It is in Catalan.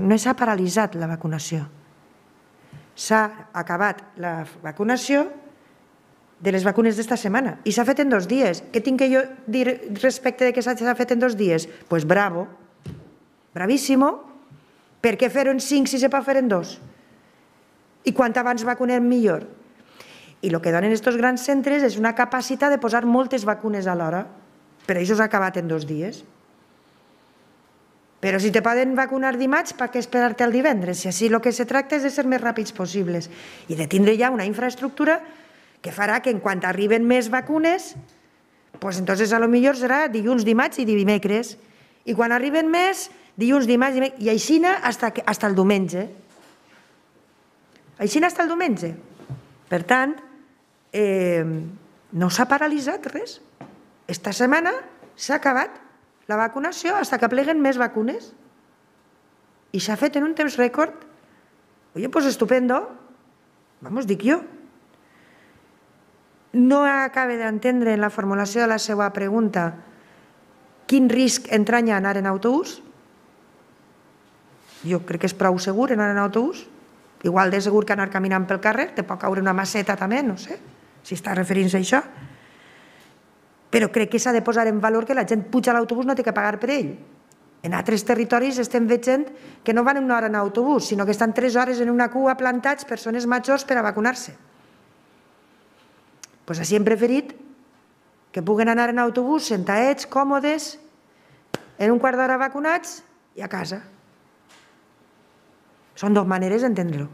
No s'ha paralitzat la vacunació. S'ha acabat la vacunació de les vacunes d'esta setmana i s'ha fet en 2 dies. Què tinc que jo dir respecte de que s'ha fet en 2 dies? Doncs bravo, bravíssimo. Per què fer-ho en 5 si se pot fer en 2? I quant abans vacunem millor. I el que donen aquests grans centres és una capacitat de posar moltes vacunes alhora. Per això s'ha acabat en 2 dies. Però si te poden vacunar dimarts, per què esperar-te al divendres? Si així el que se tracta és de ser més ràpids possibles i de tindre ja una infraestructura que farà que en quant arriben més vacunes, doncs entonces a lo millor serà dilluns, dimarts i dimecres. I quan arriben més, dilluns, dimarts, dimecres, i així fins el diumenge. Així fins el diumenge. Per tant, no s'ha paralitzat res. Esta setmana s'ha acabat la vacunació fins que pleguen més vacunes. I s'ha fet en un temps rècord. Oye, pues estupendo. Vamos, dic jo. No acabe d'entendre en la formulació de la seva pregunta quin risc entranya anar en autobús. Jo crec que és prou segur anar en autobús. Igual de segur que anar caminant pel carrer, te pot caure una maceta també, no sé, si està referint-se a això. Però crec que s'ha de posar en valor que la gent puja a l'autobús no té que pagar per ell. En altres territoris estem veient que no van una hora en autobús, sinó que estan 3 hores en una cua plantats persones majors per a vacunar-se. Doncs així hem preferit que puguen anar en autobús sentadets, còmodes, en un quart d'hora vacunats i a casa. Són 2 maneres d'entendre-ho.